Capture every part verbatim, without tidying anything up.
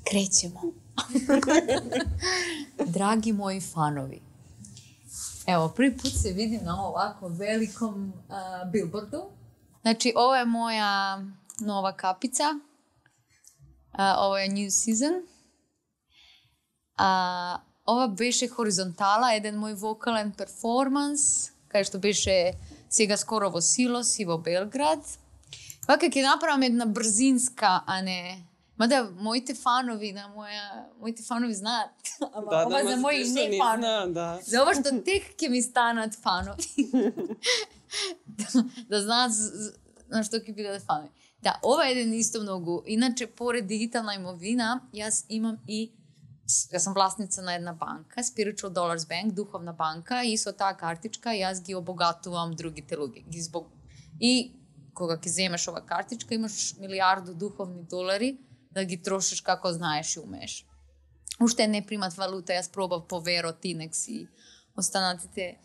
Krećemo. Dragi moji fanovi, evo, prvi put se vidim na ovako velikom uh, billboardu. Znači, ovo je moja nova kapica. Uh, ovo je New Season. Uh, ova beše horizontala, jedan moj vokalan performans, kaj što beše сега скоро во Силос и во Белград. Вака ќе направам една брзинска, а не... Мада моите фанови, на моја, моите фанови знаат, ама да, ова да, за мои не фанови. Да. За ова што тек ќе ми станат фанови. да, да знаат на што ќе бидат фанови. Да, ова е еден исто многу. Иначе, поред дигитална имовина, јас имам и јас сум власница на една банка, Spiritual Dollars Bank, духовна банка, и со таа картичка јас ги обогатувам другите луѓе. Ги због... И кога ќе земеш ова картичка, имаш милиарду духовни долари да ги трошиш како знаеш и умееш. Уште не примат валута, јас пробав по Веро, Тинекс и останатите.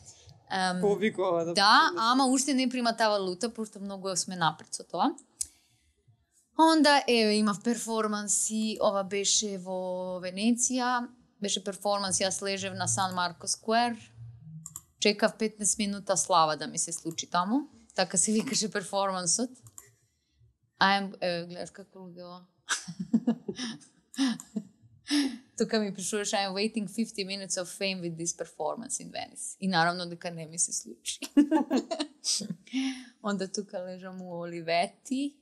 Um, Повикува да. Да, ама уште не примат таа валута, пошто многу сме напред со тоа. Онда, еве, имав перформанси, ова беше во Венеција, беше перформанс, јас лежев на Сан Марко Сквер, чекав петнаесет минута слава да ми се случи таму, така се викаше перформансот. Ајм, еве, гледаш како луѓе. Тука ми пишуваш, I'm waiting fifty minutes of fame with this performance in Venice. И наравно дека не ми се случи. Онда тука лежам у Оливети.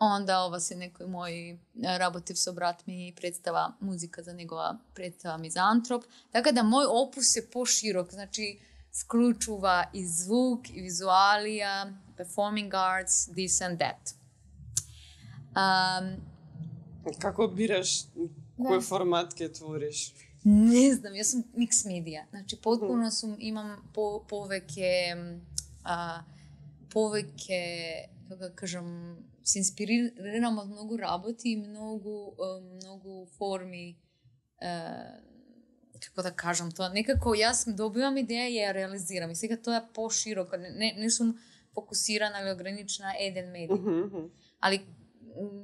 Онда ова се некои мои работив со брат ми представа музика за негова представа Мизантроп. Така да мој опус е поширок, значи вклучува и звук, и визуалија, performing arts, this and that. Um, Како бираш кој формат ќе твориш? Не знам, јас сум микс медија. Значи потпуно сум имам по, повеќе а, повеќе како кажам се инспирирам од многу работи и многу многу форми, како да кажам тоа, некако јас добивам идеја и ја реализирам и сега тоа е пошироко, не не сум фокусирана или ограничена еден медиј. Mm -hmm. Али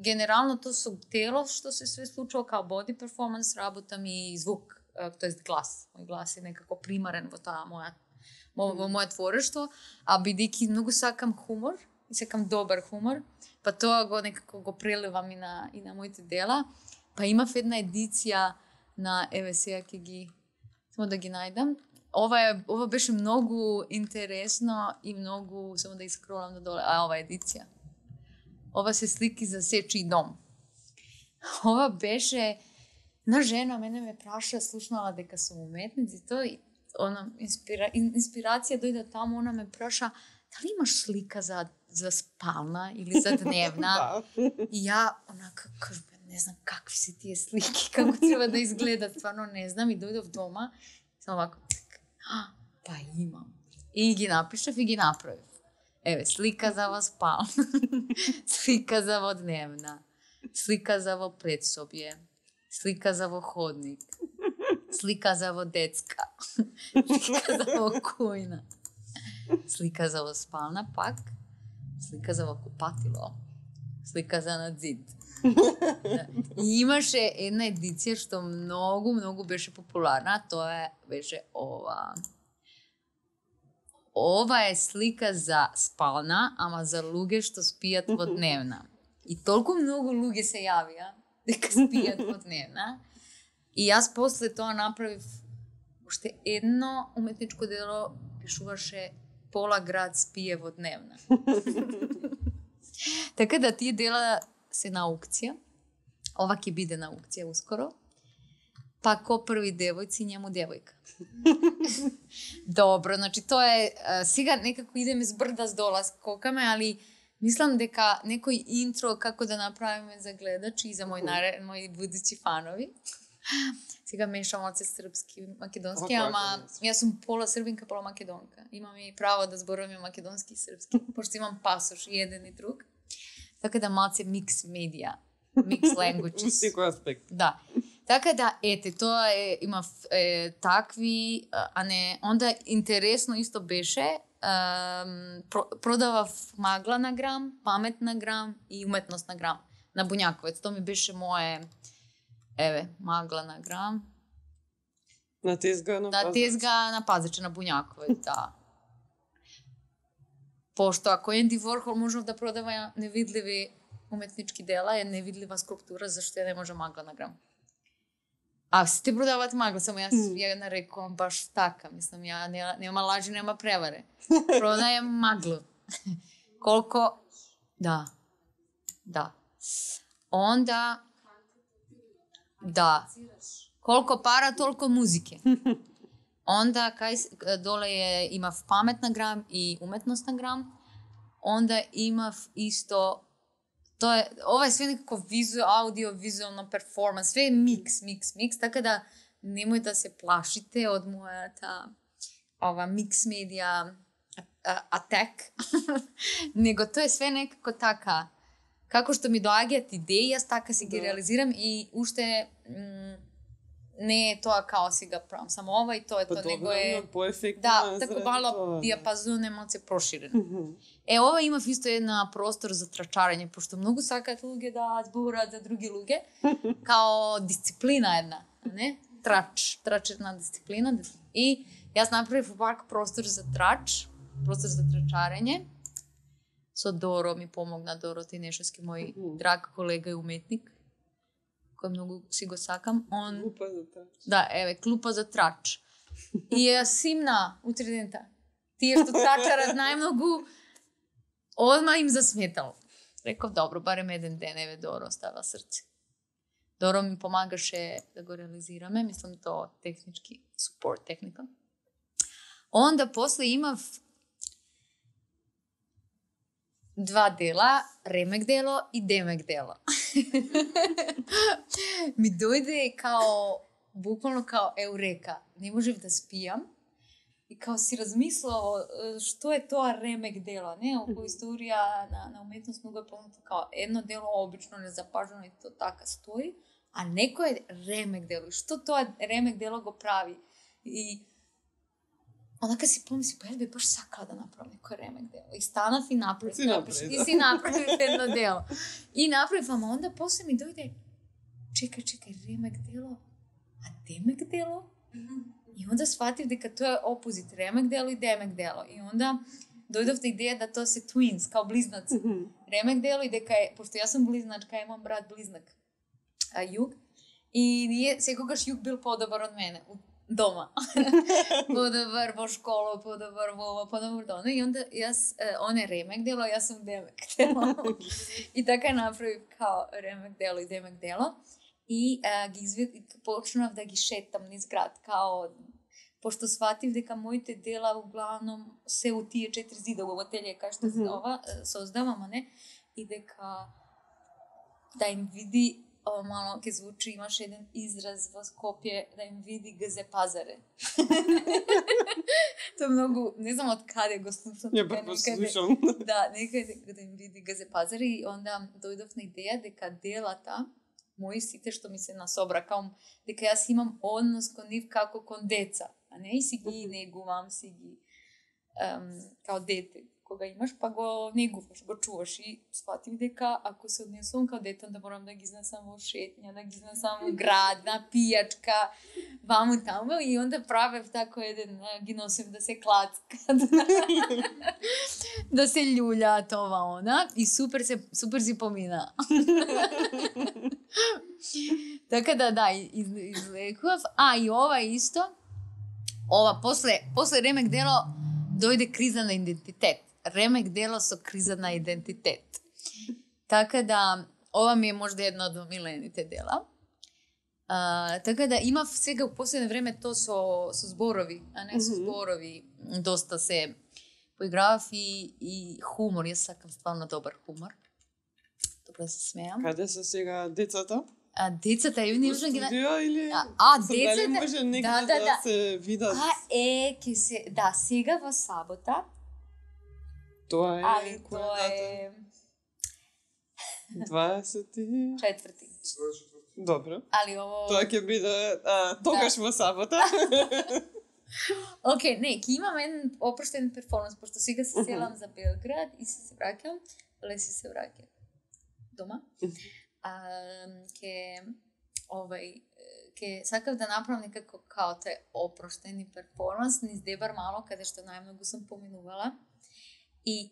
генерално тоа со тело што се све случува као боди перформанс, работам и звук, тоест глас. Мој глас е некако примарен во таа моја во моје творештво, а бидејќи многу сакам хумор, и сакам добар хумор, па тоа го некако го преливам и на и на моите дела. Па имав една едиција на еве сега ќе ги само да ги најдам. Ова е ова беше многу интересно и многу, само да искролам надоле, а ова едиција. Ова се слики за сечи дом. Ова беше на жена, мене ме праша, слушнала дека сум уметница и тоа, она инспира, инспирација дојде таму, она ме праша, дали имаш слика за за спална или за дневна? И ја онака кажам, не знам какви се тие слики, како треба да изгледат, стварно не знам, и дојдов дома, само овако, па имам. И ги напишав и ги направив. Еве, слика за во спална, слика за во дневна, слика за во предсобје, слика за во ходник, слика за во детска, слика за во кујна, слика за во спална пак, слика за во купатило, слика за на зид. И имаше една едиција што многу, многу беше популарна, тоа беше ова. Ова е слика за спална, ама за луѓе што спијат во дневна. И толку многу луѓе се јавија дека спијат во дневна. И јас после тоа направив уште едно уметничко дело, пишуваше Пола град спие во дневна. Така да тие дела се на аукција. Ова ќе биде на аукција ускоро. Па ко први девојци, njemu девојка. Добро, значи тоа е, сега некако идеме с брда с дола, скокаме, али мислам дека некој интро како да направиме за гледачи и за мој наре, мои будучи фанови. Сега мешам оце српски, македонски, ама јас сум пола србинка, пола македонка. Имам и право да зборувам македонски и српски, пошто имам пасош и еден и друг. Така да малце микс медија, микс languages. Секој аспект. Да. Така да, ете, тоа е, има е, такви, а не, онда интересно исто беше, е, продавав магла на грам, памет на грам и уметност на грам. на Бунјаковец. Тоа ми беше мое, еве, магла на грам. На тезга на Пазач. На тезга на Пазач, на Бунјаковец, да. Пошто ако Енди Ворхол можев да продава невидливи уметнички дела, е невидлива скулптура, зашто ја не може магла на грам. А сите продаваат магла, само јас mm. ја нарекувам баш така, мислам, ја не, нема лажи, нема преваре. Продајам маглу. Колко... Да. Да. Онда... Да. Колко пара, толку музике. Онда, кај доле е, имав памет на грам и уметност на грам. Онда имав исто... Тоа е, ова е све некако визуал, аудио, визуално перформанс, све е микс, микс, микс, така да немој да се плашите од мојата ова микс медија атак. Него тоа е све некако така. Како што ми доаѓаат идеи, јас така си ги да. реализирам и уште м, не е тоа као си го правам само ова и тоа е па тоа, него е... По-ефектно. Да, така мало диапазон е малце проширен. Mm -hmm. Е, ова имав исто една простор за трчарење, пошто многу сакаат луѓе да зборат за други луѓе, као дисциплина една, не? Трач, трачерна дисциплина. И јас направив пак простор за трач, простор за трчарење. Со Доро ми помогна, Доро Тинешевски, мој mm -hmm. драг колега и уметник, кој многу си го сакам. Он... Клупа за трач. Да, еве, клупа за трач. И ја симна утре дента. Тие што трачарат најмногу, одма им засметал. Реков, добро, барем еден ден, еве, Доро става срце. Доро ми помагаше да го реализираме, мислам тоа технички, support техника. Онда после имав два дела, ремек дело и демек дело. Ми дојде као, буквално као еурека. Не можев да спијам. И као си размислила што е тоа ремек дело, не? Околу историја на, на уметност многу е познато као едно дело обично незапажено и то така стои, а некој ремек дело. Што тоа ремек дело го прави? И онака си помисли, па јас би баш сакала да направам некој ремек дело. И станав и направив. Си направив, и си направив едно дело. И направив, ама онда после ми дојде, чекај, чекај, ремек дело, а демек дело? И онда сватив дека тоа е опозит, ремек дело и демек дело. И онда дојдовте идеја да тоа се twins, као близнаци. Mm -hmm. Ремек дело и дека е, пошто јас сум близначка, имам брат близнак, а Југ, и ние секогаш Југ бил подобар од мене, дома. Подобар во школа, подобар во ова, подобар до она. И онда јас, он е ремек дело, јас сум демек дело. И така направив као ремек дело и демек дело. И а, ги извед... почнав да ги шетам низ град, као, пошто сватив дека моите дела углавном се у тие четири зида во ателје, кај што mm -hmm. ова создавам, а не, и дека да им види, ова мало ке звучи, имаш еден израз во Скопје, да им види ГЗ Пазаре. Тоа многу, не знам од каде го слушам. Ја прво слушам. Да, некаде да им види ГЗ Пазаре и онда дојдов на идеја дека делата мои сите што ми се насобра, као дека јас имам однос кон нив како кон деца, а не и си ги негувам, си ги um, као дете. Кога имаш, па го негуваш, го чуваш и сватив дека ако се однесувам као дете, да морам да ги изнесам во шетња, да ги изнесам во град, на пијачка, ваму таму, и онда правев тако еден, ги носим да се клацкат, да се љулјаат ова она, и супер се супер си помина. Така да, да, из, излекував. А, и ова исто, ова, после, после ремек дело, дојде криза на идентитет. Ремек дело со криза на идентитет. Така да, ова ми е можда едно од омилените дела. А, така да, имав сега у последно време то со, со зборови, а не со зборови. Доста се поигравав и, и хумор. Јас сакам стварно добар хумор. Добро се смејам. Каде се сега децата? А децата ја не можам ги на... или... А, а децата... Дали може некаде да, да, да се видат? А е, ке се... Да, сега во сабота. Тоа е... Али тоа е... дваесет и... Четврти. Добро. Али ово... Тоа ќе биде а, тогаш да. Во сабота. Океј, okay, не, ќе имам еден опроштен перформанс, пошто сега се селам за Белград и се се враќам, леси се враќам дома. ке овај ке сакав да направам некако као тај опроштени перформанс низ Дебар мало, каде што најмногу сум поминувала. И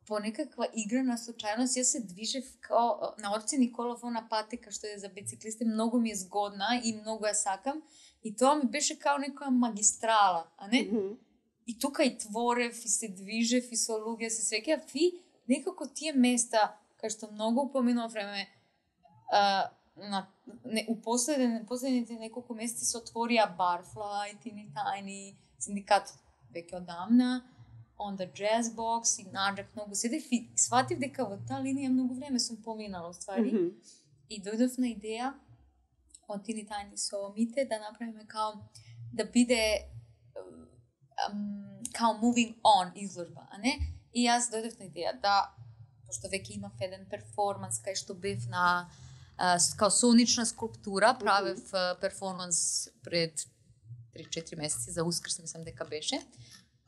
по некаква игра на случајност јас се движев као на Орци Николов, она патека што е за бициклисти, многу ми е згодна и многу ја сакам. И тоа ми беше као некоја магистрала, а не? Mm-hmm. И тука и творев, и се движев, и со луѓе се свеќав, и некако тие места, кај што многу упоминував време, а, на, не, у последен, последните неколку месеци се отворија Barfly, Teeny Tiny, синдикат веќе одамна, on the Jazz Box и наđак многу седев и сватив дека во таа линија многу време сум поминала, ствари. Mm-hmm. И дојдов на идеја од Teeny Tiny со Мите да направиме као да биде um, као moving on изложба, а не? И јас дојдов на идеја да, пошто веќе имав еден перформанс кај што бев на uh, као сонична скулптура, правев uh, перформанс пред три-четири месеци за Ускрс, мислам дека беше.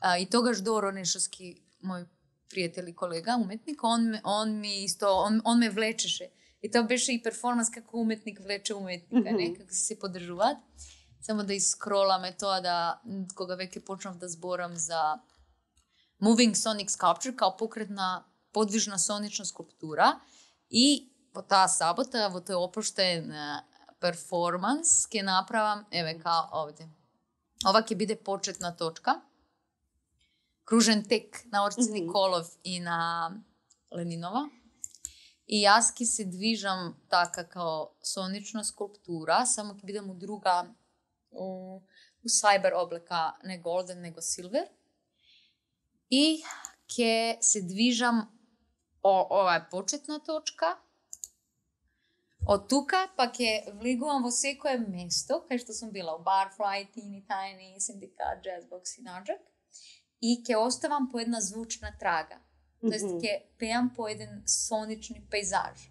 Uh, и тогаш Доро Нешовски, мој пријател и колега, уметник, он, он ми исто, он, он ме влечеше. И тоа беше и перформанс како уметник влече уметника, mm-hmm. не? Како се се подржуваат. Само да искроламе тоа да, кога веќе почнав да зборам за Moving Sonic Sculpture, као покретна, подвижна сонична скулптура. И во таа сабота, во тој опроштен перформанс, ќе направам, еве, као овде. Ова ќе биде почетна точка. Кружен тек на Орци mm-hmm. Николов и на Ленинова. И јас ќе се движам така као сонична скулптура, само ќе бидам у друга, у, у сайбер облека, не голден, него силвер. И ќе се движам, о, ова е почетна точка. Од тука па ќе влегувам во секое место, кај што сум била, у Barfly, Teeny Tiny, Синдикат, Jazz Box и наđак. И ќе оставам по една звучна трага. Mm-hmm. Тоест, ќе пеам по еден сонични пейзаж.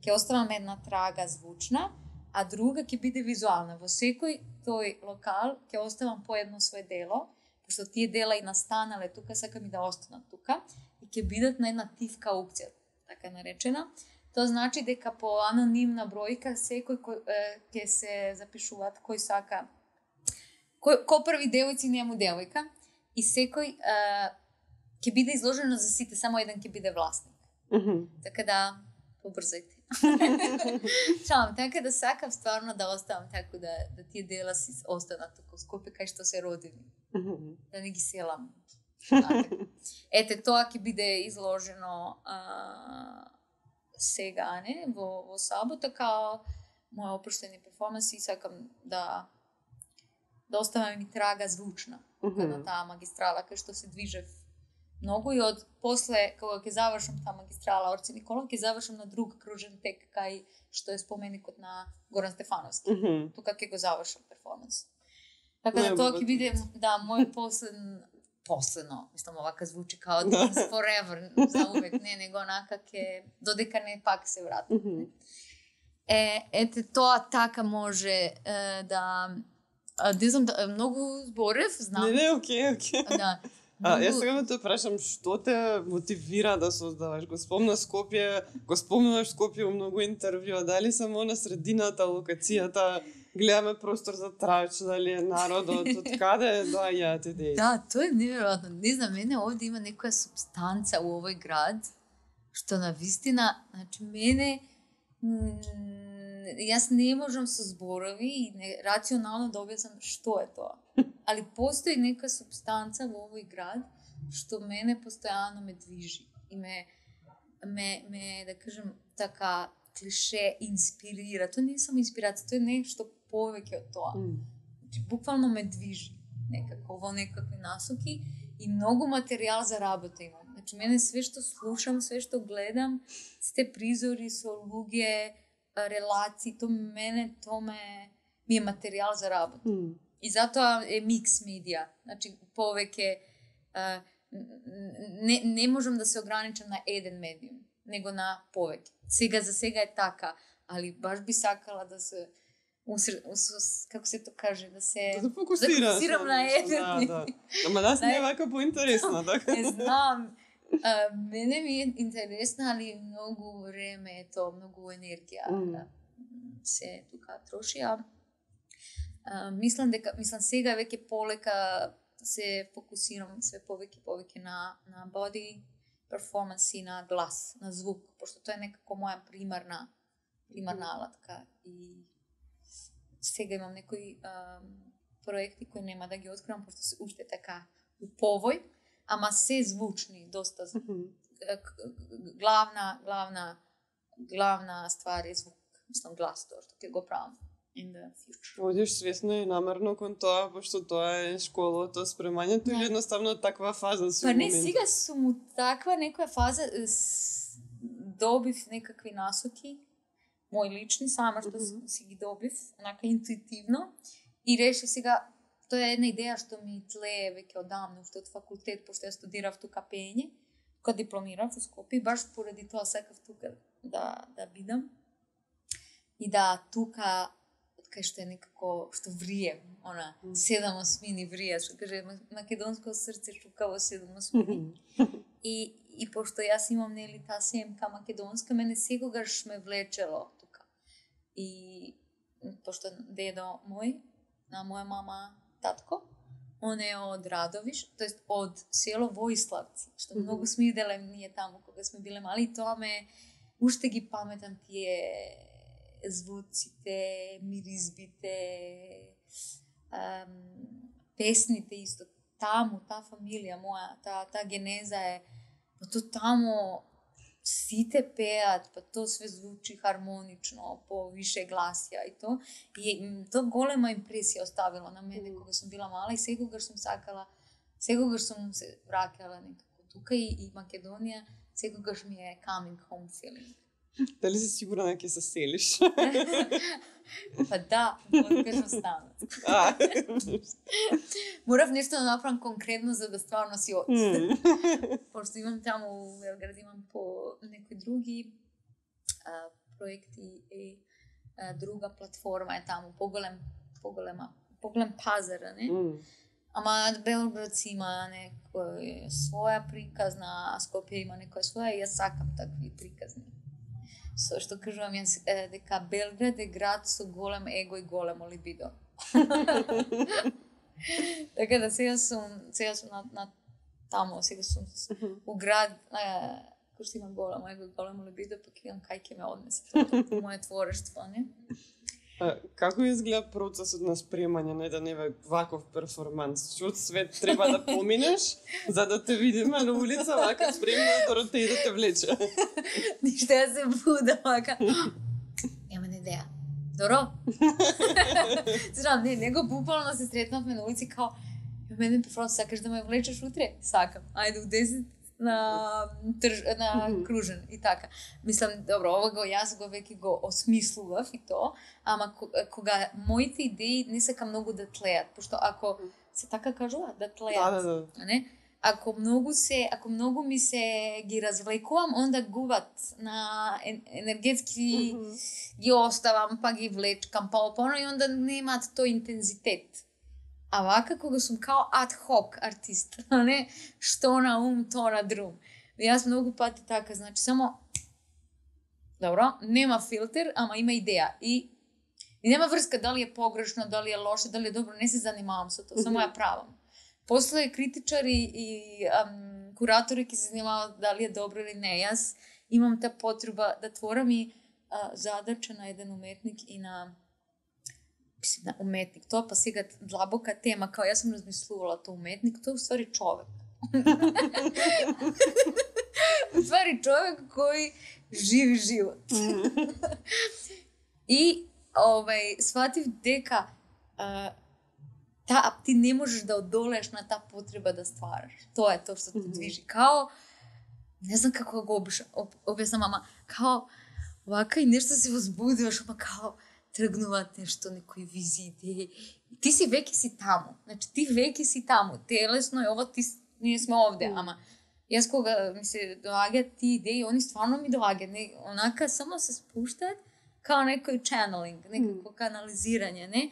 Ќе оставам една трага звучна, а друга ќе биде визуална. Во секој тој локал ќе оставам по едно своје дело, пошто тие дела и настанале тука, сакам и да останат тука, и ќе бидат на една тивка аукција, така наречена. Тоа значи дека по анонимна бројка секој кој, е, ќе се запишуваат кој сака, кој, кој први девојци нему девојка, и секој е, ќе биде изложено за сите, само еден ќе биде власник. Mm-hmm. Така да, побрзајте. Шалам, така да сакам стварно да оставам така да, да тие дела си останат тука у Скопје кај што се родени. Mm-hmm. Да не ги селам. Ете, тоа ќе биде изложено а, сега, не, во, во сабота, као моја опроштени перформанс и сакам да да оставам и трага звучна mm-hmm. на таа магистрала кај што се движев многу и од после кога ќе завршам таа магистрала Орци Николов, ќе завршам на друг кружен тек кај што е споменикот на Горан Стефановски. Mm-hmm. Тука ќе го завршам перформанс. Така да тоа ќе биде да мој последен последно, мислам овака звучи као forever, за увек, не, него онака ќе додека не пак се вратам. Mm-hmm. Е, ете тоа така може е, да не знам, да, многу зборев, знам. Не, не, окей, окей. Да. А, јас сега ме те прашам, што те мотивира да создаваш? Го спомна Скопје, го спомнуваш Скопје у многу интервјуа, дали само на средината, локацијата, гледаме простор за трач, дали е народот, од каде доаѓаат идеи? Да, тоа е неверојатно. Не знам, мене овде има некоја субстанца у овој град, што на вистина, значи, мене јас не можам со зборови и не, рационално да објаснам што е тоа. Али постои нека субстанца во овој град што мене постојано ме движи и ме, ме, ме да кажем така клише инспирира. Тоа не е само инспирација, тоа е нешто повеќе од тоа. Значи, буквално ме движи некако во некакви насоки и многу материјал за работа имам. Значи, мене све што слушам, све што гледам, сите призори со луѓе, релации, то мене, то ме ми е материјал за работа. Mm. И затоа е микс медија. Значи, повеќе а, не, не можам да се ограничам на еден медиум, него на повеќе. Сега за сега е така, али баш би сакала да се уср... како се тоа каже, да се да фокусира, да фокусирам на еден. Да, да. Ама нас не е вака поинтересно, така. Не знам. А, мене ми е интересно, али многу време е то, многу енергија mm. да се тука троши. А, а, мислам дека, мислам сега веќе полека се фокусирам све повеќе повеќе на на body performance и на глас, на звук, пошто тоа е некако моја примарна примарна mm. алатка и сега имам некои а, проекти кои нема да ги откривам пошто се уште така у повој, ама се звучни, доста mm-hmm. главна главна главна ствар е звук, мислам глас тоа што ќе го правам in the future. Одиш свесно и намерно кон тоа, пошто тоа е школото, спремањето или едноставно таква фаза си Па не, момент? сега сум у таква некоја фаза, добив некакви насоки, мои лични, сама што mm-hmm. си ги добив, онака интуитивно, и реши сега, тоа е една идеја што ми тлее веќе одамна, уште од факултет, пошто ја студирав тука пење, кога дипломирав во Скопје, баш поради тоа сакав тука да, да бидам. И да тука, кај што е некако, што врием, она, mm. седам осмини врија, што каже, македонско срце шука во седам осмини. и, и пошто јас имам, нели, та семка македонска, мене секогаш ме влечело тука. И пошто дедо мој, на моја мама, татко, он е од Радовиш, тоест од село Воиславци, што mm-hmm. многу сме иделе ние таму кога сме биле мали, и тоа ме, уште ги паметам тие звуците, миризбите, ам, песните исто. Таму, та фамилија моја, та, та генеза е, па то таму сите пеат, па то све звучи хармонично, по више гласија и то. И то голема импресија оставило на мене кога сум била мала и секогаш сум сакала, секогаш сум се враќала некако тука и, и Македонија, секогаш ми е coming home feeling. Дали си сигурна дека ќе се селиш? Па да, откаш останат. Морав нешто да направам конкретно за да стварно си од. Пошто имам таму во Белград, имам по некои други а, проекти и а, друга платформа е таму, поголем, поголема, поголем пазар, не? Mm. Ама Белград си има некоја своја приказна, а Скопје има некоја своја и јас сакам такви приказни. Со што кажувам јас е, дека Белград е град со голем его и големо либидо. Така да сега сум, сега сум на, на тамо, сега сум у град е, кој што има големо его и големо либидо, пак имам кај ќе ме однесе тоа моје творештво, не? А, како изгледа процесот на спремање на еден еве ваков перформанс? Што свет треба да поминеш за да те видиме на улица вака спремна Доротеја да те влече? Ништо ја се буда вака. Немам идеја. Доро? Знам, не, него буквално се сретнавме на улици као мене перформанс, сакаш да ме влечеш утре? Сакам. Ајде у десет на трж, на кружен и така. Мислам, добро, ова го јас го веќе го осмислував и то, ама кога моите идеи не сакам многу да тлеат, пошто ако се така кажува, да тлеат, да, да, да. не? Ако многу се, ако многу ми се ги развлекувам, онда губат на енергетски mm-hmm. ги оставам, па ги влечкам, па опоно и онда немаат тој интензитет. А вака кога сум као ad-hoc артист, а не што на ум, то на друм. Јас многу пати така, значи само добро, нема филтер, ама има идеја и и нема врска дали е погрешно, дали е лошо, дали е добро, не се занимавам со тоа, само ја правам. После критичари и ам, куратори ќе се занимаваат дали е добро или не. Јас имам та потреба да творам и а, задача на еден уметник и на мислим, на уметник, тоа па сега длабока тема, као јас сум размислувала тоа уметник, тоа е уствари човек. Уствари човек кој живи живот. И овај сватив дека а, та, ти не можеш да одолееш на таа потреба да ствараш. Тоа е тоа што те движи. Као, не знам како го објаснам, ама као вака и нешто се возбудуваш, ама као тргнуваат нешто, некои визии, идеи. Ти си веќе си таму. Значи, ти веќе си таму. Телесно е ова, ти, ние сме овде. Mm. Ама, јас кога ми се доаѓаат ти идеи, они стварно ми доаѓаат. Не, онака, само се спуштаат, као некој channeling, некако mm. канализирање, не?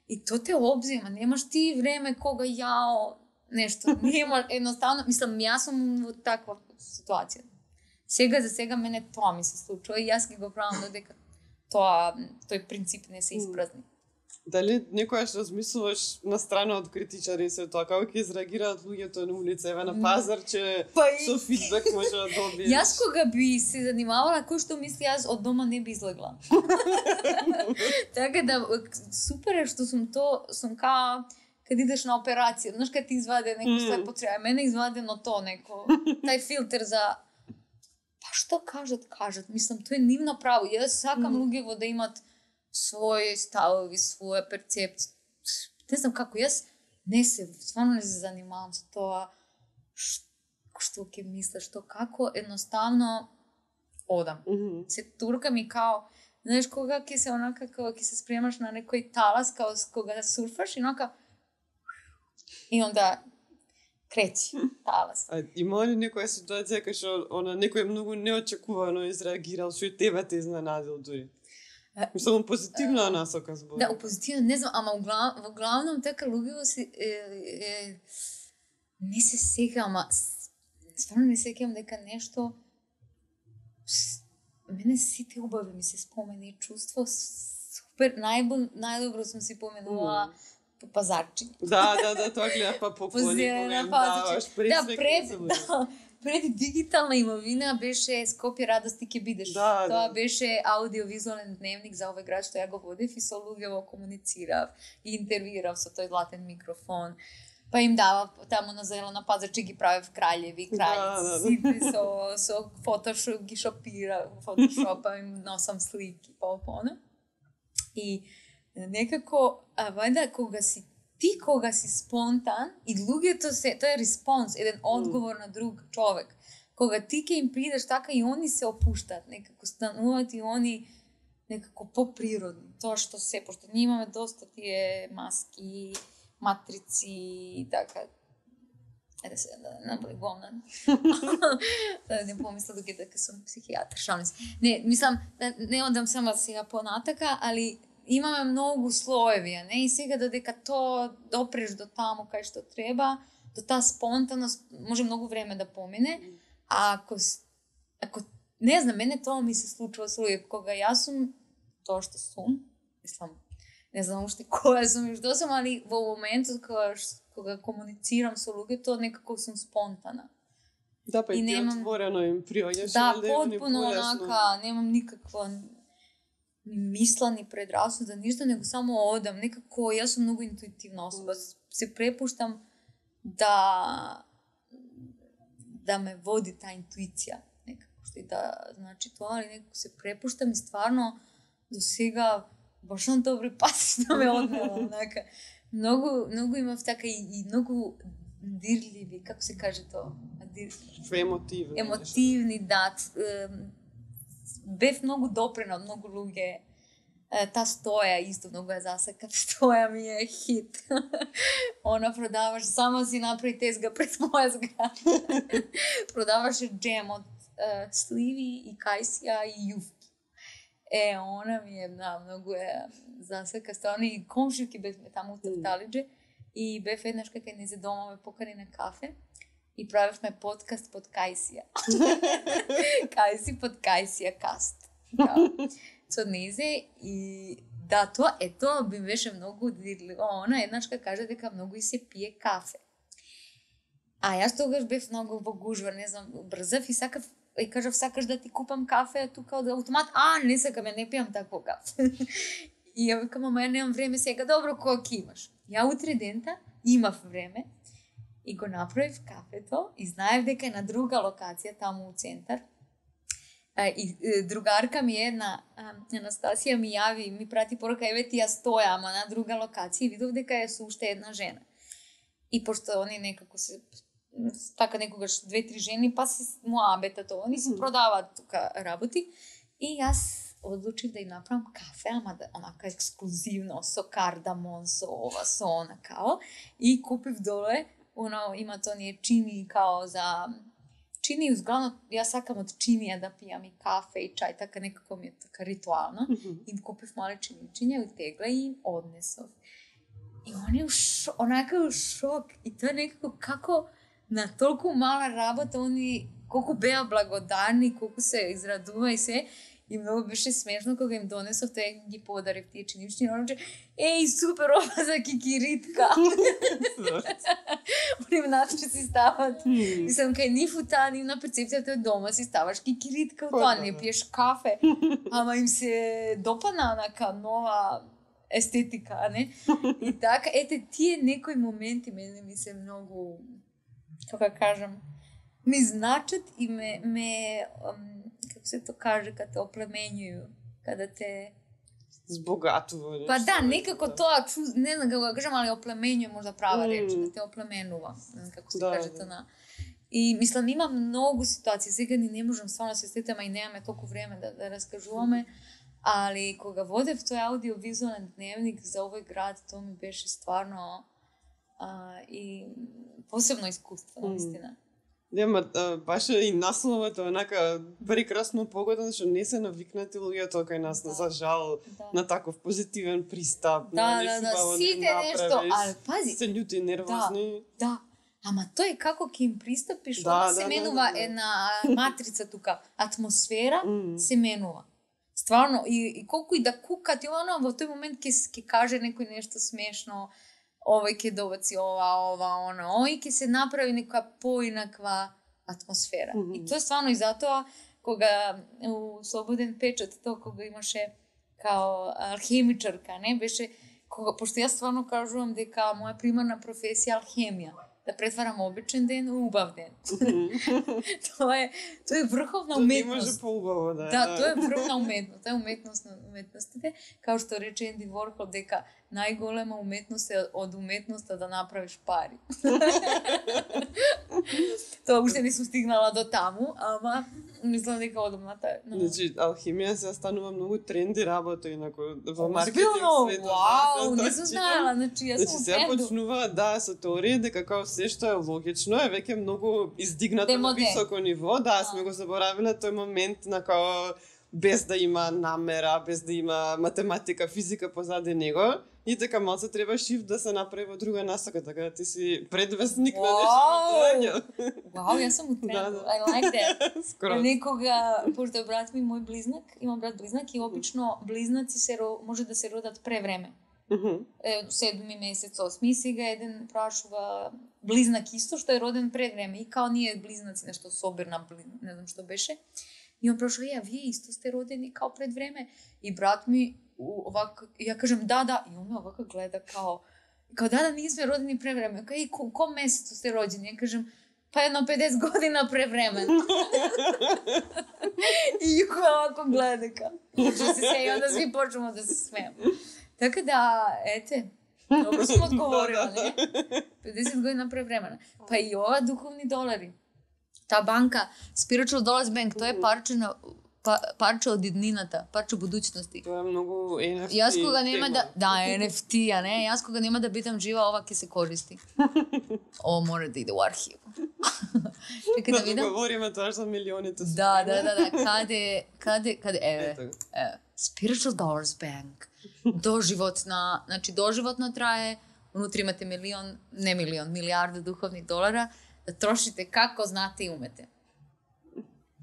И то те обзема. Немаш ти време кога јао, нешто. Нема, едноставно, мислам, јас сум во таква ситуација. Сега за сега мене тоа ми се случува и јас ги го правам додека тоа, тој принцип не се испразни. Дали некојаш размислуваш на страна од критичари се тоа, како ќе изреагираат луѓето на улица, еве на пазар, че па и... со фидбек може да добиеш? Јас кога би се занимавала кој што мисли, јас од дома не би излегла. Така да супер е што сум то, сум као кад идеш на операција, знаеш кад ти изваде неко mm. све потреба, мене извадено то неко, тај филтер за па што кажат, кажат, мислам, тоа е нивно право. Јас сакам mm. луѓето да имат своји ставови, своја перцепција. Не знам како, јас не се, стварно не се занимавам со тоа што ќе мислам, што како, едноставно одам. Mm -hmm. Се туркам и као, знаеш, кога ќе се онака, кога ќе се спремаш на некој талас, као кога да сурфаш и онака и онда крети талас. А има ли некоја ситуација кај што она некој многу неочекувано изреагирал, што и тебе те изненадил дури? Мислам, позитивна насока збор. Да, позитивна, не знам, ама во главном така луѓето се е, е, не се сека, ама стварно не сеќавам дека нешто мене сите убави ми се спомени чувство супер, најбо, најдобро сум си поменувала по пазарчи. Да, да, да, тоа гледа па поклони кога им даваш пресвек. Да, пред, да, пред дигитална имовина беше Скопје радости ќе бидеш. Да, Тоа да. беше аудиовизуален дневник за овој град што ја го водев и со луѓето комуницирав и интервјуирав со тој златен микрофон. Па им давав таму на зелена пазарче ги правев краљеви, краљици, да, да. со со фотошоп ги шопира, фотошопа им носам слики, па пона. И некако, а вајда кога си ти кога си спонтан и луѓето се, тоа е респонс, еден одговор mm. на друг човек. Кога ти ќе им придеш така и они се опуштат, некако стануваат и они некако поприродни. Тоа што се, пошто ние имаме доста тие маски, матрици и така. Еде се, да не наблегувам на... да не помисла доки дека сум психијатар, шалим се. Не, мислам, да не одам само сега понатака, али имаме многу слоеви, не? И сега додека то допреш до таму кај што треба, до таа спонтаност, може многу време да помине, а ако, ако не знам, мене тоа ми се случува со луѓе, кога јас сум тоа што сум, мислам, не знам уште која сум и што сум, али во моментот кога, кога комуницирам со луѓето, некако сум спонтана. Да, па и, и ти немам... отворено им приоѓаш. Да, потпуно онака, немам никаква ни мисла, ни предрасуда, ништо, него само одам. Некако, јас сум многу интуитивна особа. Mm. Се препуштам да да ме води таа интуиција. Некако, што и да значи тоа, али некако се препуштам и стварно до сега баш на добри пати да ме однела. Онака. Многу, многу имав така и, и многу дирливи, како се каже тоа? Дир... Емотивни. Емотивни, да. Бев многу допрена од многу луѓе. Та стоја исто многу ја засекав. Стоја ми е хит. Она продаваш, сама си направи тезга пред моја зграда. Продаваше джем од е, сливи и кајсија и јуфки. Е, она ми е, да, многу е засека. Стварно и комшивки бевме таму у Тарталиџе. И бев еднаш кај незе дома ме покани на кафе. И правевме подкаст под Кајсија. Кајси под Кајсија каст. Да. Со незе и да, тоа е тоа би беше многу дирливо. Она еднашка каже дека многу и се пие кафе. А јас тогаш бев многу во гужва, не знам, брзав и сакав и кажав сакаш да ти купам кафе тука од автомат. А, не сакам, ја не пијам такво кафе. И ја викам, ама ја немам време сега. Добро, кога ќе имаш? Ја утре дента имав време. И го направив кафето и знаев дека е на друга локација, таму у центар. И другарка ми една, Анастасија, ми јави, ми прати порака, еве ти ја стоја, ама на друга локација и видов дека е со уште една жена. И пошто они некако се, така некогаш две-три жени, па си муабетато, они си продаваат тука работи. И јас одлучив да им направам кафе, ама да, онака ексклузивно, со кардамон, со ова, со она као. И купив доле, оно има тоние чини као за чини, узглавно јас сакам од чинија да пијам и кафе и чај, така некако ми е така ритуално. Mm -hmm. Им купив мале чиничиња, утегла и им однесов. И он е ш... онака у шок. И тоа е некако како на толку мала работа, они колку беа благодарни, колку се израдува и се. И многу беше смешно кога им донесов, тој ги подарив тие чинични, он рече, еј, супер, ова за кикиритка. Они внатре си стават. Мислам, кај нив таа нивна перцепција дома си ставаш кикиритка, тоа не пиеш кафе. Ама им се допана онака нова естетика, не? И така, ете, тие некои моменти мене ми се многу, како кажам, ми значат и ме, ме како се то каже, кога те оплеменјуju, кога те збогатува. Па да, некако тоа, не знам како го кажам, али оплеменјуе можда права реч, да те оплеменува, како се да, каже тоа на. И мислам, има многу ситуации, сега ни не можам стварно да се сетам, и немаме толку време да, да раскажуваме, али кога водев тој аудиовизуален дневник за овој град, тоа ми беше стварно а, и посебно искуство, mm. наистина. Нема, баш и насловот е онака прекрасно погоден, што не се навикнати луѓето кај нас, да. За жал, да. На таков позитивен пристап. Да, да, да, сите нешто, али пази. Се љути, нервозни. Да, да. Ама тој е како ќе им пристапиш, да, она да, се да, менува да, да. една матрица тука, атмосфера mm. се менува. Стварно, и, и колку и да кукат, и оно, во тој момент ќе ќе каже некој нешто смешно, овој ќе добаци ова, ова, оно, овој ќе се направи нека поинаква атмосфера. Mm -hmm. И тоа стварно и затоа, кога у Слободен печат, тоа кога имаше као алхемичарка, не, беше, кога, пошто јас стварно кажувам дека моја примарна професија алхемија, да претварам обичен ден у убав ден. Mm -hmm. тоа е тоа е врховна уметност. Тоа не може поубаво да е. Да, тоа е врховна уметност, тоа е уметност на уметностите, као што рече Енди Ворхол дека најголема уметност е од уметноста да направиш пари. Тоа уште не сум стигнала до таму, ама мислам дека одумната е. No. Значи, алхимија се станува многу тренди работа, инако во маркетинг светот. Вау, не сум знаела, значи јас сум значи, сега почнува, да, со теорија дека као се што е логично е веќе многу издигнато Демоде. на високо ниво, да, сме го заборавиле тој момент на као без да има намера, без да има математика, физика позади него. И така малце треба шифт да се направи во друга насока, така да ти си предвестник wow. на нешто. Вау, јас сум утрен. Да, да. I like that. Скоро. Некога, пошто брат ми, мој близнак, имам брат близнак и обично близнаци се може да се родат превреме. Uh -huh. Е, седми месец, осми, сега еден прашува близнак исто што е роден пред време и као ние близнаци нешто собирна, не знам што беше. И он прашува, ја, вие исто сте родени као пред време? И брат ми овака, ја кажам да, да, и он ме овака гледа као, као да, да, ние сме родени превреме. Кај, и ко, ко месецу сте роđени? Ја кажам, па едно педесет година превреме. И Јуко овако гледа као. Што се се, и onda сви почнемо да се смеем. Така да, ете, добро сум одговорила, не? педесет година превремена. Па и ова духовни долари. Та банка, Spiritual Dollars Bank, тоа е парче на па, парче од иднината, парче будуćности. Тоа е многу Ен Еф Ти. Јас кога нема да, да, Ен Еф Ти, а не, јас кога нема да бидам жива, ова ќе се користи. О, мора да иде у архив. Чека да видам. Да говориме тоа за милионите. Да, да, да, да, каде, каде, каде, еве, еве, Spiritual Dollars Bank. Доживотна, значи доживотно трае, унутри имате милион, не милион, милиарда духовни долара, да трошите како знате и умете.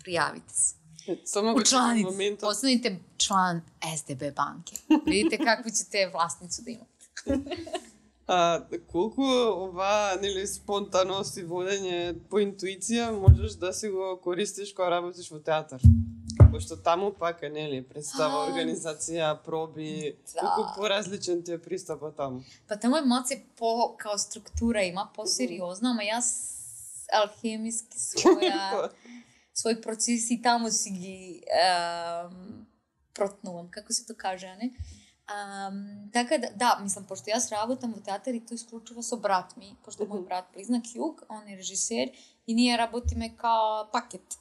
Пријавите се. Само Учланите, моментот... постанете члан Ес Де Бе банке. Видите какви ćete власницу да имате. А, колку ова, нели, спонтаност и водење по интуиција можеш да си го користиш кога работиш во театар? Пошто таму пак е, нели, представа, организација, проби, да. Колку поразличен ти е пристапот таму? Па таму е малце по, као структура има, по-сериозно, ама јас алхемиски своја, свој процес и таму си ги ем, протнувам, како се то каже, а не? Um, така да, да, мислам, пошто јас работам во театар и тој исклучува со брат ми, пошто мој брат близнак Југ, он е режисер и ние работиме као пакет.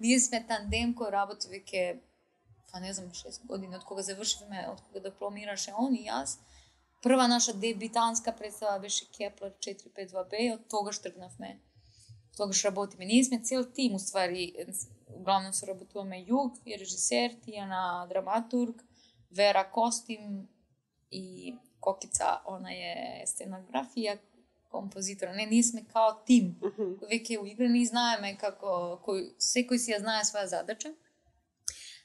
Ние сме тандем кој работи веќе, па не знам, шест години, од кога завршивме, од кога дипломираше он и јас. Прва наша дебитанска представа беше Кеплер четири пет два Б и од тогаш тргнавме. Тогаш работиме. Ние сме цел тим, уствари, главно се работуваме Југ, е режисер, Тијана драматург, Вера костим и Kokkica, ona je scenografija, kompozitora. Не, ние сме као тим, Мгм. кој веќе е уиграни и знаеме како кој секој си ја знае своја задача.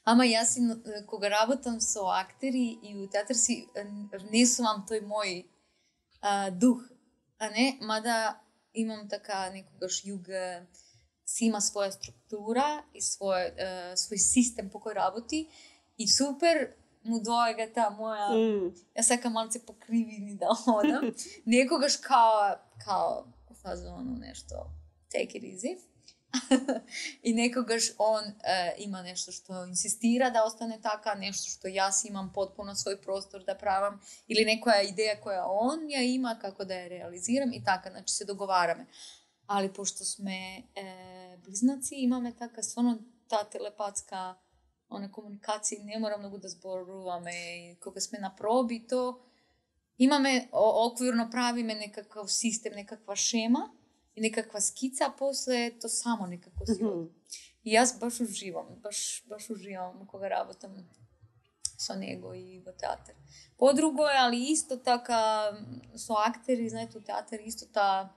Ама јас си, е, кога работам со актери и у театар си е, внесувам тој мој а, дух, а не, мада имам така некогаш југ си има своја структура и свој, е, свој систем по кој работи и супер му доаѓа таа моја, М. јас сакам малце покривини да одам, некогаш као, као, фазоно нешто, take it easy. И некогаш он е, има нешто што инсистира да остане така, нешто што јас имам потпуно свој простор да правам, или некоја идеја која он ја има како да ја реализирам и така, значи се договараме. Али пошто сме е, близнаци, имаме така стварно таа телепатска она комуникација, не мора многу да зборуваме и кога сме на проби, то имаме о, оквирно правиме некаков систем, некаква шема и некаква скица, а после то само некако си оди. Мгм. И јас баш уживам, баш баш уживам кога работам со него и во театар. Подруго е, али исто така со актери, знаете, у театар исто таа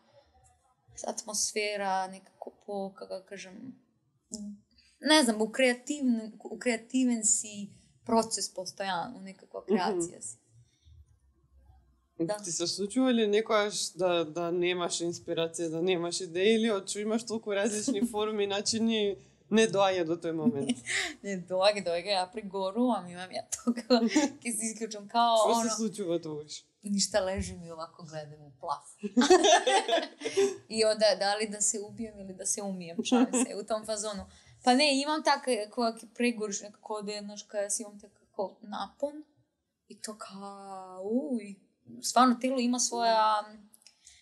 атмосфера некако по, како да кажам, не знам, у креативен, у креативен си процес постојано, некаква креација си. Да. Ти се случува ли некојаш да, да немаш инспирација, да немаш идеи или од што имаш толку различни форми и начини не доаѓа до тој момент? Не, доаѓа, доаѓа, ја пригорувам, имам ја тога, ќе се исклучам као Што оно, се случува тогаш? ништа лежим и овако гледам у плав. И ода, дали да се убием или да се умием, шалим се, у том фазону. Па не, имам така, кога ќе прегориш некако да еднаш кај јас имам така како напон и то као, уј, стварно тело има своја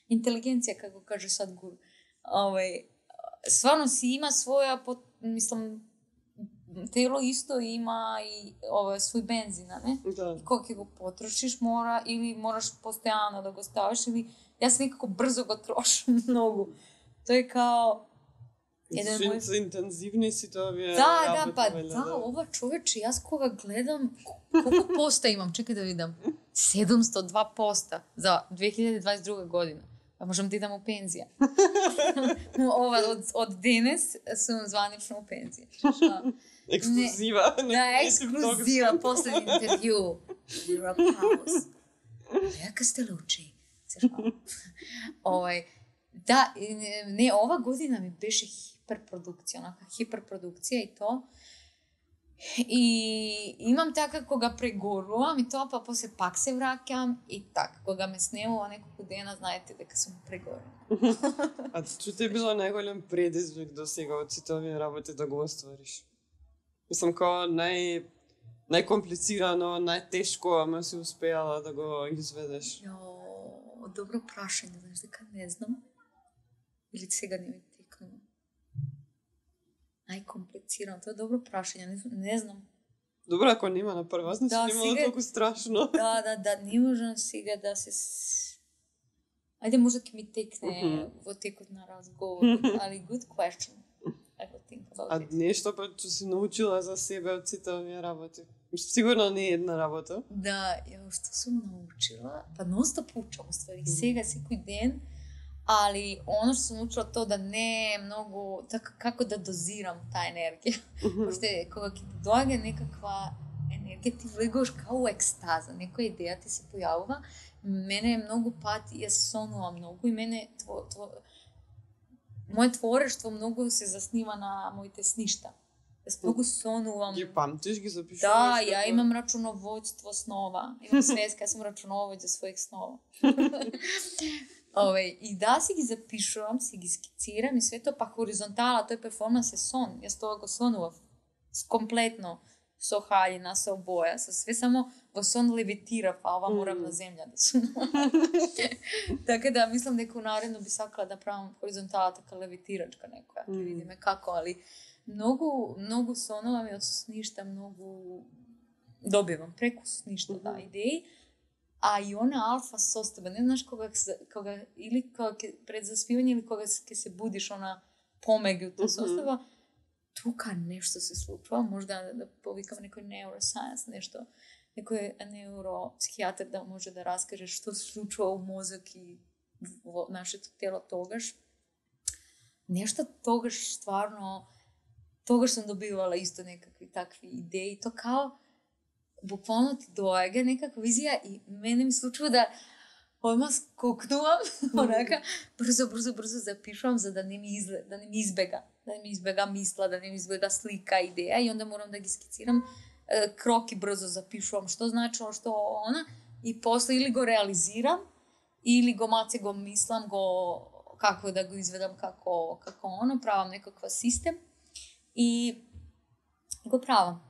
интелигенција, како каже Садгуру. Овај, стварно си има своја, под, мислам, тело исто има и ова свој бензин, а не? Да. И кога ќе го потрошиш, мора или мораш постојано да го ставиш или јас некако брзо го трошам многу. Тој е као еден Зашто мој... се интензивни си тоа вие Да, да, работи, па валја, да, ова човече, јас кога гледам, колку поста имам, чекај да видам, седумстотини и два поста за две илјади дваесет и друга година. Па можам да идам у пензија. Ова, од, од денес сум званично у пензија. Шо? Ексклузива. Да, ексклузива, последен интервју. You're a pause. Лека сте лучи. Овај, да, не, не, ова година ми беше хиперпродукција, онака хиперпродукција и то. И имам така кога прегорувам и тоа, па после пак се враќам и така, кога ме снемува неколку дена, знаете дека сум прегорена. А што ти е било најголем предизвик до сега од сите овие работи да го оствариш? Мислам, као нај најкомплицирано, најтешко, ама си успеала да го изведеш. Јо, добро прашање, знаеш дека не знам. Или сега не ми текнува. Најкомплицирано, тоа е добро прашање, не, не знам. Добро, ако нема на прва, значи Да, немало сега- толку страшно. Да, да, да, не можам сега да се... с- Ајде, може ќе ми текне Мгм. во текот на разговор, али good question. I will think about А it. нешто па што си научила за себе од сите овие работи? Мислам, сигурно не е една работа. Да, ја што сум научила, па нонстоп учам, уствари, сега секој ден, али оно што сум научила тоа да не е многу, така како да дозирам таа енергија. Пошто е, кога ќе ти доаѓа некаква енергија, ти влегуваш као у екстаза, некоја идеја ти се појавува. Мене многу пати ја сонувам многу и мене тво, тво, моје творештво многу се заснива на моите сништа. Јас многу сонувам. Ги памтиш, ги запишуваш? Да, ја како? имам рачуноводство снова. Имам свеска, јас сум рачуновоđа својих снова. Ове, и да си ги запишувам, си ги скицирам и све тоа, па хоризонтала, тој перформанс е сон. Јас тоа го сонував с- комплетно, со хаљина, со боја, со све, само во сон левитирав, а ова морам на земја да сум. Така да, мислам дека у наредно би сакала да правам хоризонтала така левитирачка некоја, ќе Мм. видиме како, али многу, многу сонувам и од сништа многу добивам преку сништа, да, Мгм. идеи. А и она алфа состава, не знаеш кога, се- кога или кога ќе, пред заспивање или кога ќе се будиш она помеѓу Мгм. состава, тука нешто се случува, можда да, да повикам некој neuroscience, нешто. некој невропсихијатар да може да раскаже што се случува у мозок и во нашето тело тогаш. Нешто тогаш стварно, тогаш сум добивала исто некакви такви идеи, то као буквално ти доаѓа некаква визија и мене ми случува да одма скокнувам, онака, брзо, брзо, брзо запишувам за да не ми изле, да не ми избега, да не ми избега мисла, да не ми избега слика, идеја и онда морам да ги скицирам, кроки брзо запишувам, што значило, што она, и после или го реализирам, или го маце го мислам, го како да го изведам како како оно, правам некаква систем и го правам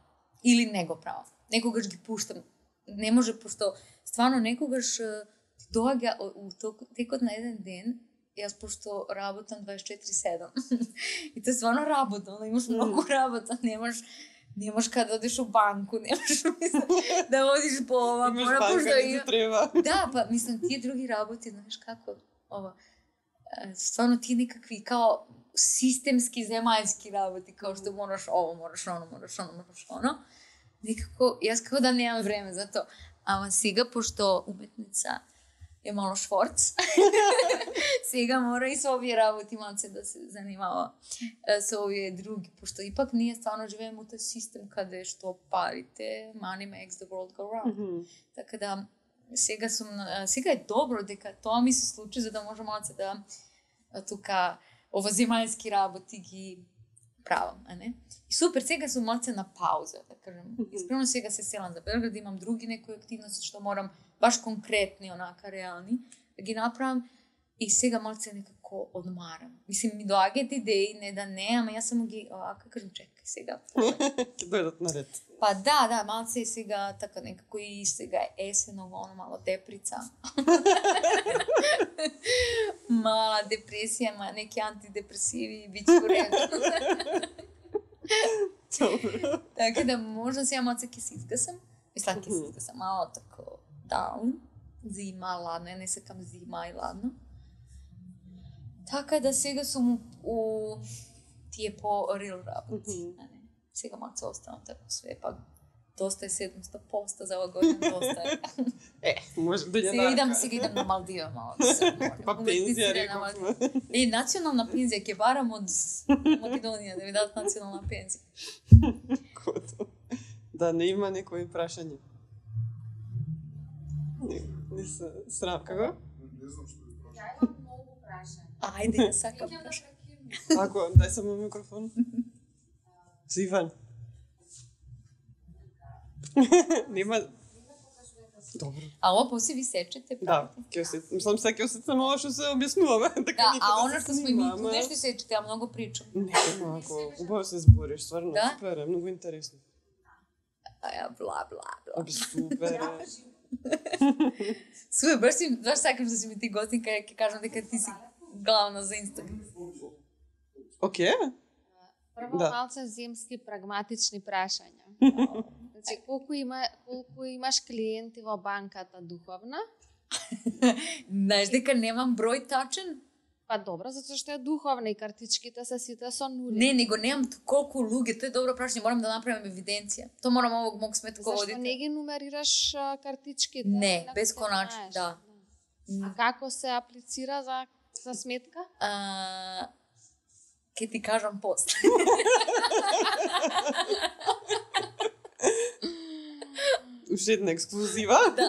или не го правам. Некогаш ги пуштам. Не може пошто стварно некогаш ти доаѓа у текот на еден ден, јас пошто работам дваесет и четири седум. И тоа стварно работа, но имаш многу работа, немаш немаш каде да одиш у банку, немаш да одиш по ова, мора пошто и треба. Да, па мислам тие други работи, знаеш како ова. Стварно тие некакви као системски земјански работи, као што мораш ово, мораш оно, мораш оно, мораш оно. Некако јас како да немам време за тоа. Ама сега пошто уметница е мало шворц, сега мора и со овие работи малце да се занимава со овие други, пошто ипак ние стварно живееме у тој систем каде што парите, money makes the world go round. Mm-hmm. Така да сега сум сега е добро дека тоа ми се случи за да може малце да тука ова земјански работи ги правам, а не? И супер, сега сум малце на пауза, да кажем. Mm-hmm. Исправно сега се селам за Белград, имам други некои активности што морам баш конкретни, онака реални, да ги направам и сега малце некако одмарам. Мислим, ми доаѓаат идеи, не да не, ама јас само ги, ака кажам, чекај сега. Ќе дојдат наред. Па да, да, малце и сега така некако и сега е есено, оно мало деприца. Мала депресија, ма неки антидепресиви, биće уредно. Добро. Така да можда сега малце ќе се изгасам. Мислам, ќе се изгасам мало тако даун. Зима, ладно, не сакам зима и ладно. Така да сега сум у тие по-рил работи. Mm-hmm. Сега малце останам така све, па доста е седумста поста за ова година, доста е. Е, може да ја сега идам, сега идам на Малдива мало. Па пензија рековме. Е, национална пензија ќе барам од Македонија, да ми дадат национална пензија. Кото. Да, не има некои прашање. Не, не се срам, како? Не знам што е прашање. Ја имам многу прашања. Ајде, ја сакам прашање. Ако, дај само микрофон. Сиван. Нема... Добро. А ова после ви сечете, правите? Да, ќе се... Мислам, сега ќе осетам ова што се објаснуваме. Да, а она што сме и ми туде што сечете, а многу причам. Не, малко, убаво се збориш, стварно, да? Супер, е многу интересно. Аја, бла, бла, бла. Оби, супер е. Супер, баш си, баш сакам да си ми ти гостинка, ќе кажам дека ти си главна за Инстаграм. Океј. Прво да. малце земски прагматични прашања. Значи, колку има колку имаш клиенти во банката духовна? Знаеш дека немам број тачен? Па добро, затоа што е духовна и картичките се сите со нули. Не, него немам колку луѓе, тоа е добро прашање, морам да направам евиденција. Тоа морам овог мог сметководител. Зашто не ги нумерираш а, картичките? Не, бесконачно, да. А како се аплицира за за сметка? А, ке ти кажам после. Уште една ексклузива. Да.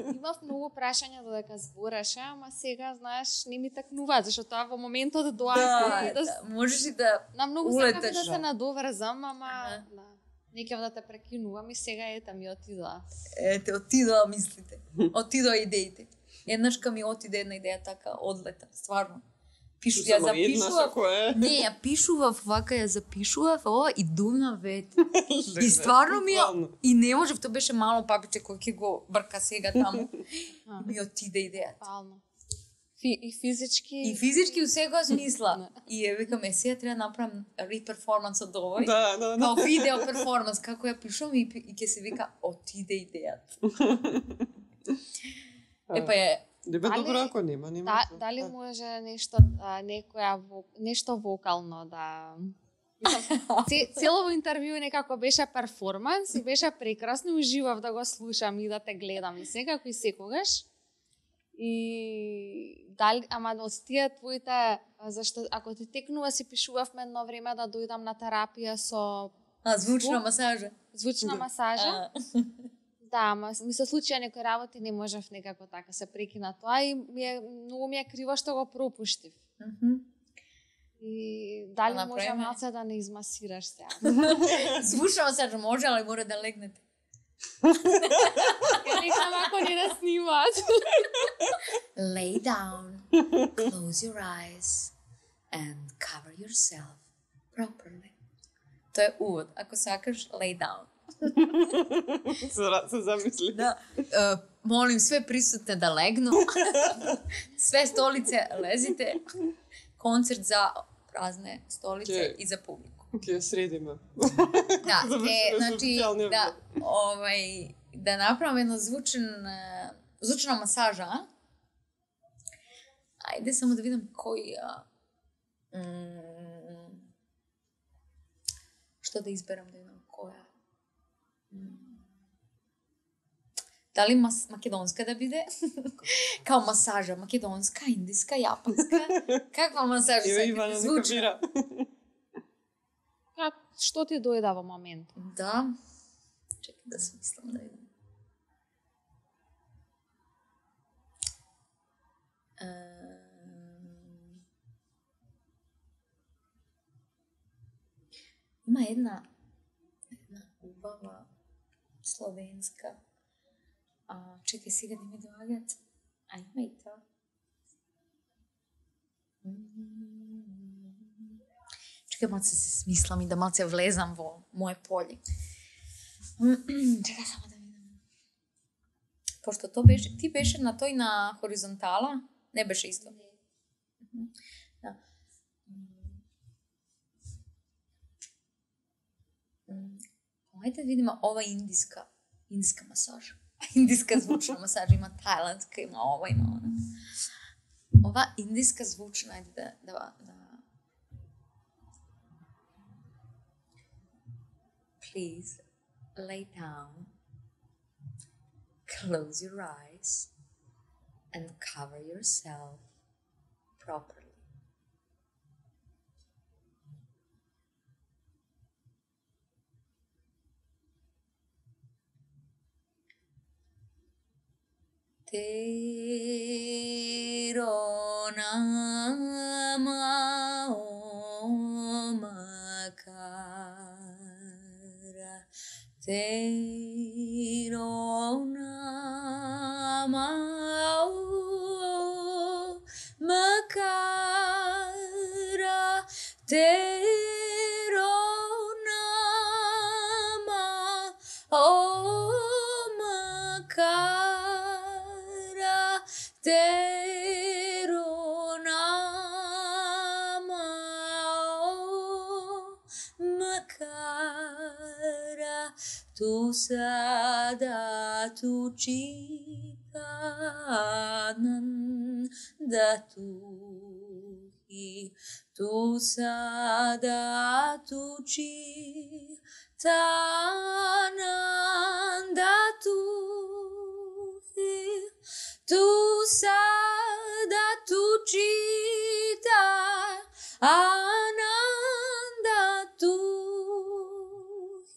Имав многу прашања додека збореше, ама сега, знаеш, не ми такнува, зашто тоа во моментот доаѓа. Да, да, можеш и да на многу улетеш, сакам да се да. надоврзам, ама Ага. да. Не ќе да те прекинувам и сега ета ми отидоа. Ете, отидоа мислите. Отидоа идеите. Еднашка ми отиде една идеја така, одлета, стварно. Пишу, ја запишував. Не, ја пишував, вака ја запишував, ова и думна вет. И стварно ми ја, и не можев, тоа беше мало папиче кој ќе го брка сега таму. И ми отиде идејата. Пално. Фи, и физички... И физички у секоја смисла. И ја викаме, сега треба да направам реперформанс од овој. Да, да, да. Као видео перформанс, како ја пишувам и, и ќе се вика, отиде идејата. Епа е, Лебе Дали- добро ако нема, нема. Да, што. дали Да. може нешто а, некоја во, нешто вокално да Мислам, целово интервју некако беше перформанс и беше прекрасно, уживав да го слушам и да те гледам и секако и секогаш. И дали, ама од тие твоите, зашто ако ти текнува си пишувавме едно време да дојдам на терапија со А, звучна звук, масажа. звучна масажа. А. Да, ама ми се случија некои работи, не можев некако така се прекина тоа и ми е, многу ми е криво што го пропуштив. Мгм. И дали Да може направиме. малце да не измасираш сега? Звучна масажа може, али мора да легнете. Легнам ако не да снимат. Lay down, close your eyes and cover yourself properly. Тоа е увод. Ако сакаш, lay down. Се, ра- се замисли. Да, е, молим све присутне да легну. Све столице лезите. Концерт за празне столице Ке- и за публику. Ќе ја средиме. Да, Завршиме е, со значи, официјалниот да, овај, да направам една звучен, е, звучна масажа. а? Ајде само да видам кој... а, м, што да изберам да видам која. М. Дали мас, македонска да биде? Као масажа, македонска, индиска, јапанска. Каква масажа Еве сакате? Ивана нека Звучна? бира. Как, што ти дојде во момент? Да. Чекай да смислам да видам. Ем, Има една една убава словенска. А, чекај сега да ми доаѓаат. А има и тоа. Чекај малце се смислам и да малце влезам во моje поле. Чекај само да видам. Пошто то беше, ти беше на тој на хоризонтала, не беше исто. Мгм. Да. М, Ајде да видиме ова индиска, индиска масажа. Индиска звучна масажа, има тајландска, има ова, има она. Ова индиска звучна, ајде да, да, да. Please lay down, close your eyes, and cover yourself properly. Tero nama omakara, Tero nama omakara, Tero nama omakara, Tero nama omakara, tu sada tu chikanan da tu hi, tu sada tu chitanan da tu hi, tu sada tu chita ananda tu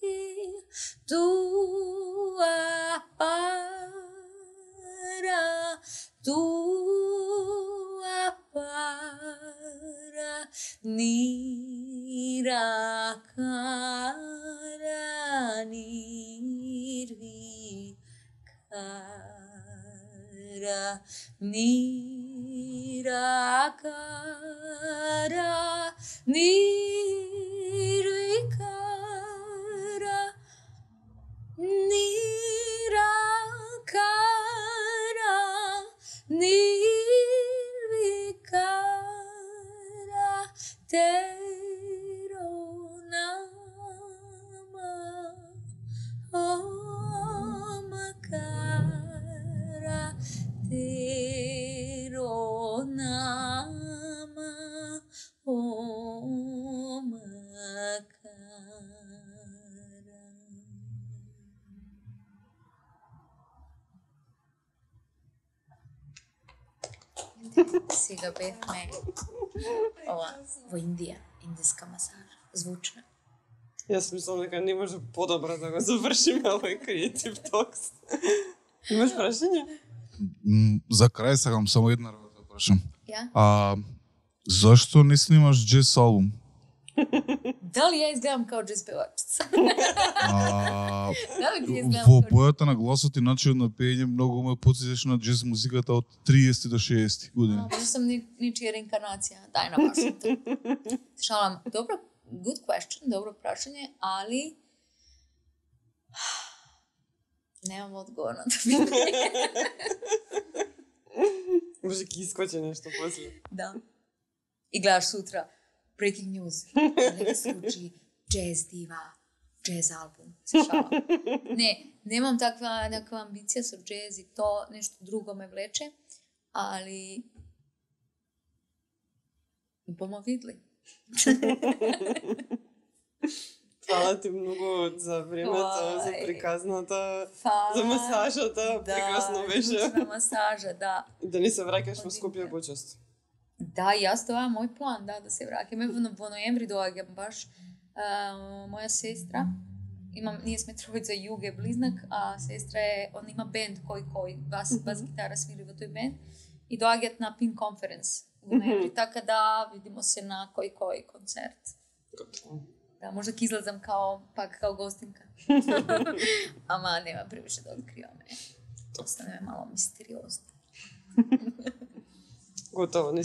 hi, tu apara, tu apara, nirakara, nirvikara, nirakara, nirvikara, nirakara, nirvikara, Tero nama omakara, Tero nama omakara. Сега бевме ова во Индија, индиска масажа, звучна. Јас мислам дека не може подобро да го завршиме овој креатив токс. Имаш прашање? М, За крај сакам само една работа да прашам. Ја? А зашто не снимаш джез албум? Дали ја изгледам као джез певачица? А, Дали ти изгледам во као... бојата на гласот и начинот на пеење многу ме потсетиш на джез музиката од триесети до шеесети години. А, Може сум ни, ничија реинкарнација. Дај на вашата. Шалам, добро, good question, добро прашање, али немам одговор на тоа питање. Може ќе искочи нешто после. Да. И гледаш сутра breaking news. Дали се случи джез дива, джез албум. Се шалам. Не, немам таква некаква амбиција со джез и то нешто друго ме влече, али бомо видли. Фала ти многу за времето, за Ой. приказната, Фала. за масажата, прекрасно беше. Да, масажа, да. Да не се враќаш во Скопје почесто. Да, јас тоа е мој план, да, да се враќаме во, во ноември доаѓам баш. А, моја сестра, имам, ние сме тројца југе близнак, а сестра е, он има бенд кој кој, бас, бас гитара свири во тој бенд и доаѓаат на Pink Conference во ноември, така да видимо се на кој кој концерт. Да, може ќе излезам као, пак као гостинка. Ама нема превише да откриваме. Остане мало мистериозно. Готово, не